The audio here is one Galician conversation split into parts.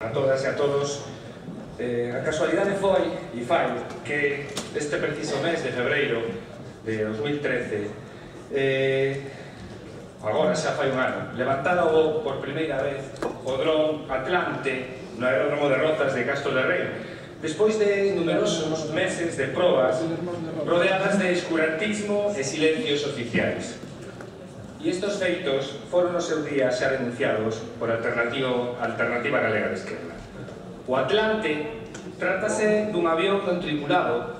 A todas e a todos. A casualidade foi e fai que este preciso mes de febreiro de 2013 agora xa fai un ano levantara por primeira vez o dron Atlante no aeródromo de Rozas de Castro de Rei despois de numerosos meses de probas rodeadas de escurantismo e silencios oficiais. E estes feitos foron no seu día xa denunciados por Alternativa Galega de Esquerda. O Atlante trátase dun avión non tripulado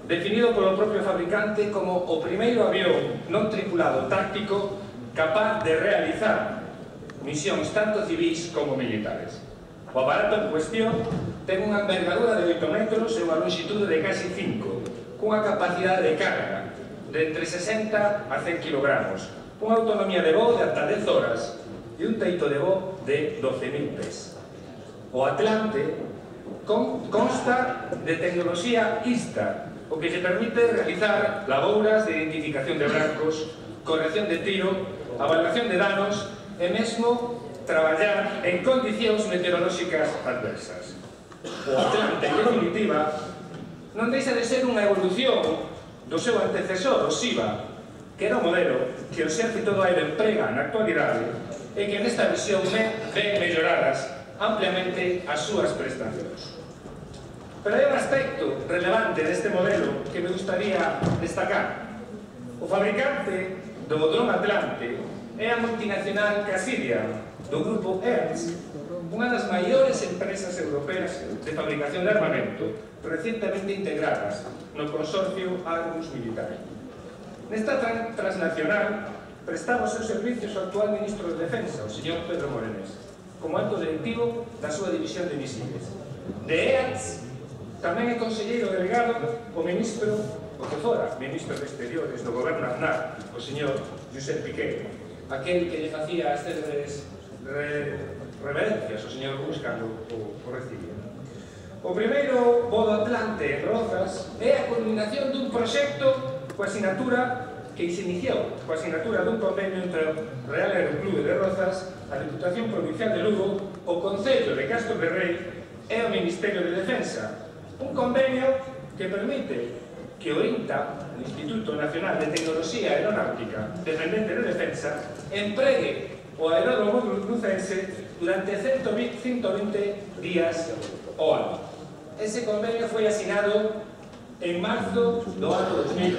definido polo propio fabricante como o primeiro avión non tripulado táctico capaz de realizar misións tanto civís como militares. O aparato en cuestión ten unha envergadura de 8 metros e unha longitude de casi 5, cunha capacidade de carga de entre 60 a 100 kg, unha autonomía de voo de ata 10 horas e un teito de voo de 12.000 pés. O Atlante consta de tecnoloxía ISTA, o que se permite realizar labouras de identificación de blancos, corrección de tiro, avaliación de danos e mesmo traballar en condicións meteorolóxicas adversas. O Atlante, en definitiva, non deixa de ser unha evolución do seu antecesor, o SIVA, que era o modelo que o Exército do Aire emprega na actualidade e que nesta versión ven melloradas ampliamente as súas prestacións. Pero hai un aspecto relevante deste modelo que me gustaría destacar. O fabricante do dron Atlante é a multinacional Cassidian, do grupo Ernst, unha das maiores empresas europeas de fabricación de armamento recientemente integradas no consorcio Argus Militari. Nesta transnacional prestaba os seus servicios ao actual ministro de Defensa, o señor Pedro Morenés, como alto directivo da súa división de misiles. De EATS tamén é conselleiro delegado o ministro, o que fora ministro de Exteriores do goberno Aznar, o señor Josep Piqué, aquel que lle facía as célebres reverencias ao señor Bush cando o recibía. O primeiro voo do Atlante en Rozas é a culminación dun proxecto coa sinatura que se iniciou, coa sinatura dun convenio entre o Real Aeroclube de Rozas, a Diputación Provincial de Lugo, o Concello de Castro de Rei e o Ministerio de Defensa. Un convenio que permite que o INTA, o Instituto Nacional de Tecnoloxía Aeronáutica Dependente de Defensa, empregue o aeródromo lucense durante 120 días ao ano. Ese convenio foi asinado en marzo do ano 2000.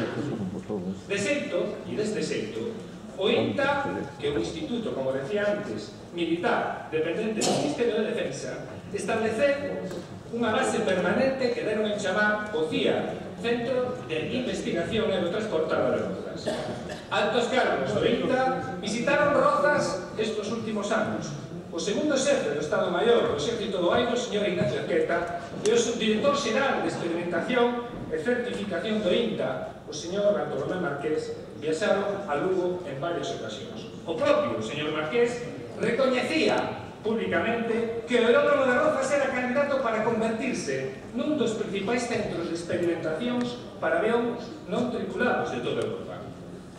Deste xeito, o INTA, que é un instituto, como decía antes, militar, dependente do Ministerio de Defensa, estableceu unha base permanente que deron en chamar o CIA, Centro de Investigación Aerotransportada de Rozas. Altos cargos do INTA visitaron Rozas estes últimos anos. O segundo xefe do Estado Maior do Exército do Aire, o señor Ignacio Arqueta, e o subdirector xeral de Experimentación e Certificación do INTA, o señor Bartolomé Marqués, viaxaron a Lugo en varias ocasións. O propio señor Marqués recoñecía públicamente que o aeródromo de Rozas era candidato para convertirse nun dos principais centros de experimentacións para avións non tripulados de toda Europa.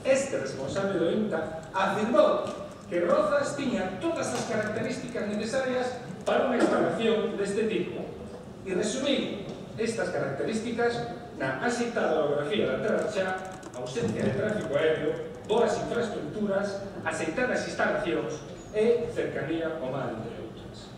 Este responsable do INTA afirmou que Rozas tiña todas as características necesarias para unha instalación deste tipo e resumir estas características na axitada orografía da Terra xa, ausencia de tráfico aéreo, boas infraestructuras, aceitadas instalacións e cercanía ao mar, entre outras.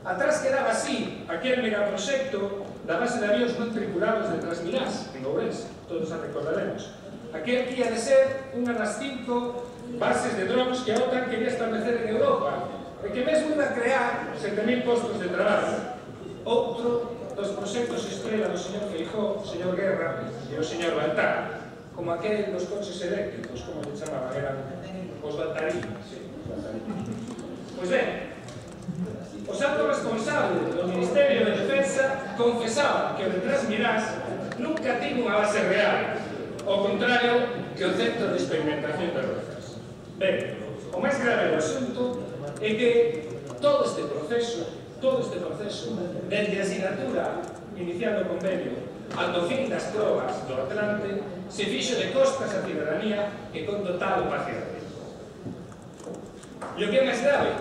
Atrás quedaba así aquel megaproxecto da base de avións non tripulados de Trasmirás, en Ourense, todos a recordaremos. Aquel que ia de ser unha das 5 bases de drones que a OTAN quería establecer en Europa e que mesmo iba a crear 7.000 postos de traballo. Outro dos proxectos estrela do señor Feijóo, o señor Guerra e o señor Baltar, como aquel dos coches eléctricos, como le chamaban, eran os baltarinos. Pois ben, os altos responsables do Ministerio de Defensa confesaban que o de Trasmirás nunca tivo unha base real, ao contrario que o Centro de Experimentación de Rozas. Ben, o máis grave do asunto é que todo este proceso, desde a sinatura iniciando o convenio ando fin das probas do Atlante, se fixo de costas a cidadanía e con total opacidade. E o que é máis grave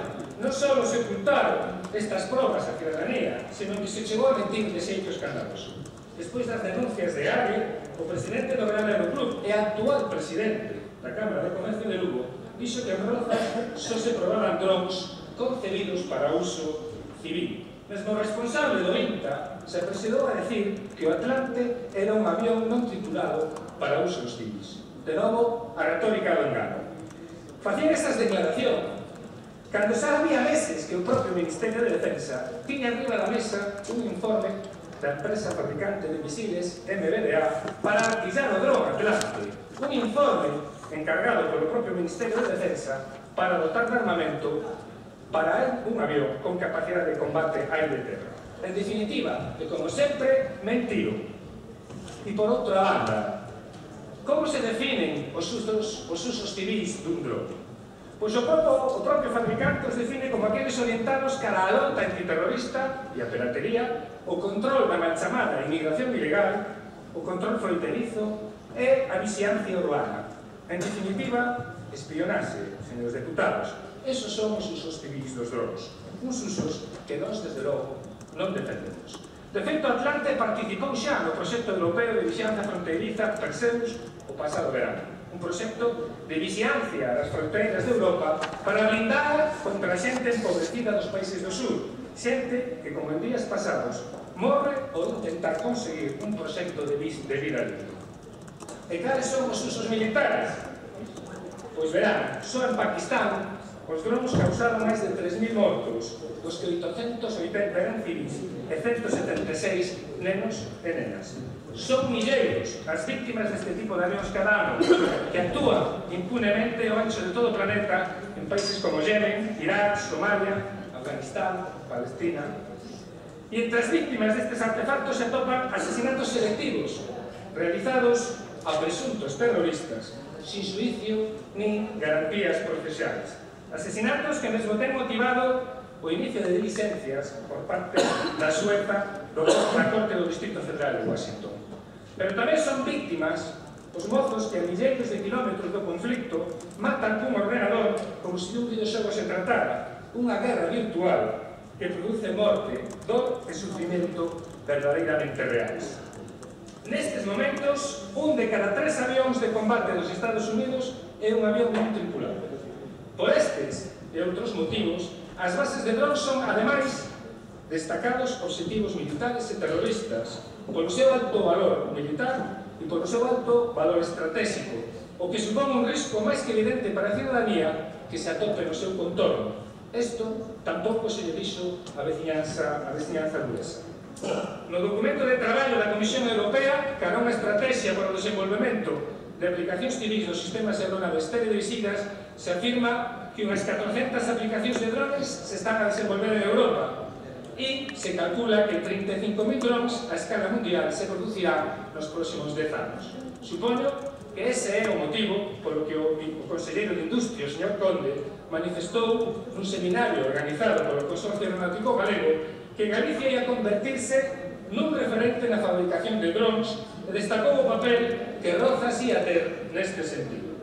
non só se ocultaron estas probas á cidadanía, senón que se chegou a mentir de xeito escandaloso. Despois das denuncias de Ague, o presidente do Gran Aeroclub e actual presidente da Cámara de Comercio de Lugo dixo que en Rozas só se probaban drons concebidos para uso civil. Mesmo responsable do INTA se apresurou a decir que o Atlante era un avión non tripulado para usos civis. De novo, a retórica do engano. Facían esas declaracións cando xa había meses que o propio Ministerio de Defensa tiña arriba da mesa un informe da empresa fabricante de misiles MBDA para artillar o dron Atlante. Un informe encargado polo propio Ministerio de Defensa para dotar de armamento para un avión con capacidade de combate aire-terra. En definitiva, e como sempre, mentido. E por outra banda, como se definen os usos civis dun dron? Pois o propio fabricante os define como aqueles orientados cara a loita antiterrorista e a piratería, o control da mal chamada inmigración ilegal, o control fronterizo e a vixiancia urbana. En definitiva, espionaxe, señores deputados. Esos son os usos civis dos drones. Uns usos que nós, desde logo, non defendemos. De feito, Atlante participou xa no proxecto europeo de vixianza fronteiriza Perseus o pasado verano. Un proxecto de vixiancia das fronteiras de Europa para blindar contra a xente empobrecida dos países do sur. Xente que, como en días pasados, morre ou intentar conseguir un proxecto de vida libre. E cales son os usos militares? Pois verán, só en Pakistán os drones causaron máis de 3.000 mortos, dos que 880 eran civis e 176 nenos e nenas. Son milleiros as víctimas deste tipo de avións cada ano que actúan impunemente ao ancho de todo o planeta en países como Yemen, Irak, Somalia, Afganistán, Palestina. E entre as víctimas destes artefactos se atopan asesinatos selectivos realizados a presuntos terroristas sin xuicio nin garantías procesais. Asesinatos que mesmo ten motivado o inicio de diligencias por parte da Sueca da Corte do Distrito Federal de Washington. Pero tamén son víctimas os mozos que a milleiros de kilómetros do conflicto matan cun ordenador como se un videoxogo se tratara, unha guerra virtual que produce morte, dor e sufrimento verdadeiramente reais. Nestes momentos, un de cada 3 avións de combate dos Estados Unidos é un avión non tripulado. Por estes e outros motivos, as bases de drones son, ademais, destacados obxectivos militares e terroristas polo seu alto valor militar e polo seu alto valor estratégico, o que supón un risco máis que evidente para a ciudadanía que se atope no seu contorno. Isto tampouco se lle dixo a veciñanza luesa. No documento de traballo da Comisión Europea, cara a unha estrategia para o desenvolvemento de aplicacións civis dos sistemas aeronaves teledirixidas, se afirma que unhas 400 aplicacións de drones se están a desenvolver en Europa e se calcula que 35.000 drones a escala mundial se producirán nos próximos 10 anos. Supoño que ese é o motivo polo que o conselleiro de Industria, o señor Conde, manifestou nun seminario organizado polo Consorcio Aeronáutico Galego que Galicia ia convertirse nun referente na fabricación de drones e destacou o papel que Rozas ia ter neste sentido.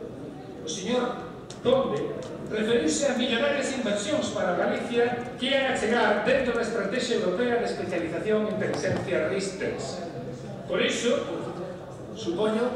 O señor Conde referiuse a millonarias inversións para Galicia que ian a chegar dentro da Estrategia Europea de Especialización en Inteligencia RIS-3. Por iso, supoño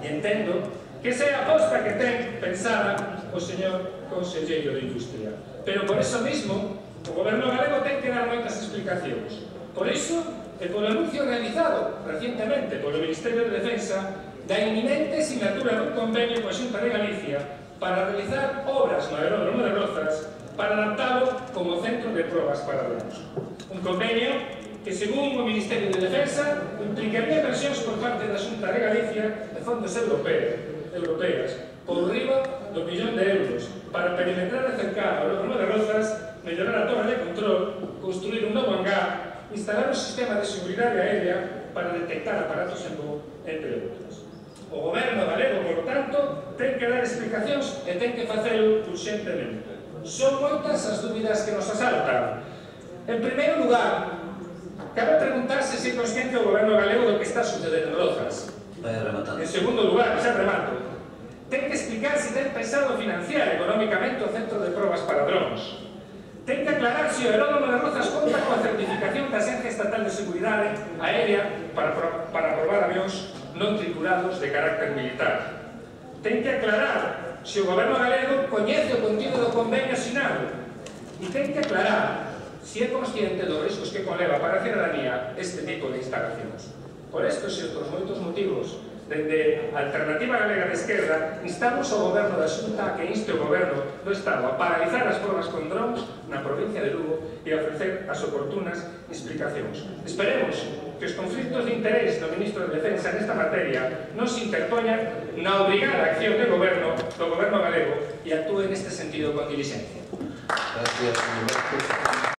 e entendo que esa é a aposta que ten pensada o señor conselleiro de Industria. Pero por eso mismo, o goberno galego ten que dar moitas explicacións. Por iso, e polo anuncio realizado recientemente polo Ministerio de Defensa da inminente sinatura dun convenio coa Xunta de Galicia para realizar obras no aeródromo de Rozas para adaptalo como centro de probas para drones. Un convenio que, según o Ministerio de Defensa, implicaría inversións por parte da Xunta de Galicia de fondos europeas por riba do 1.000.000 de euros para perimetrar e cercar o aeródromo de Rozas, mellorar a torre de control, construir un novo hangar, instalar un sistema de seguridade aérea para detectar aparatos en voo, entre outros. O goberno galego, por lo tanto, ten que dar explicacións e ten que facelo urxentemente. Son moitas as dúbidas que nos asaltan. En primeiro lugar, cabe preguntarse se é consciente o goberno galego do que está sucedendo en Rozas. En segundo lugar, xa remato, ten que explicar se ten pensado financiar económicamente o centro de probas para drones. Ten que aclarar se o Aeródromo de Rozas conta coa certificación da Agencia Estatal de Seguridade Aérea para probar avións non tripulados de carácter militar. Ten que aclarar se o Goberno galego coñece o contido do convenio asinado. E ten que aclarar se é consciente dos riscos que conleva para a cidadanía este tipo de instalacións. Por estes e outros moitos motivos, dende a Alternativa Galega de Esquerda, instamos ao Goberno da Xunta a que inste o Goberno do Estado a paralizar as probas con drones na provincia de Lugo e a ofrecer as oportunas explicacións. Esperemos que os conflitos de interés do Ministro de Defensa nesta materia non se interpoñan na obrigada acción do Goberno galego e actúe neste sentido con diligencia.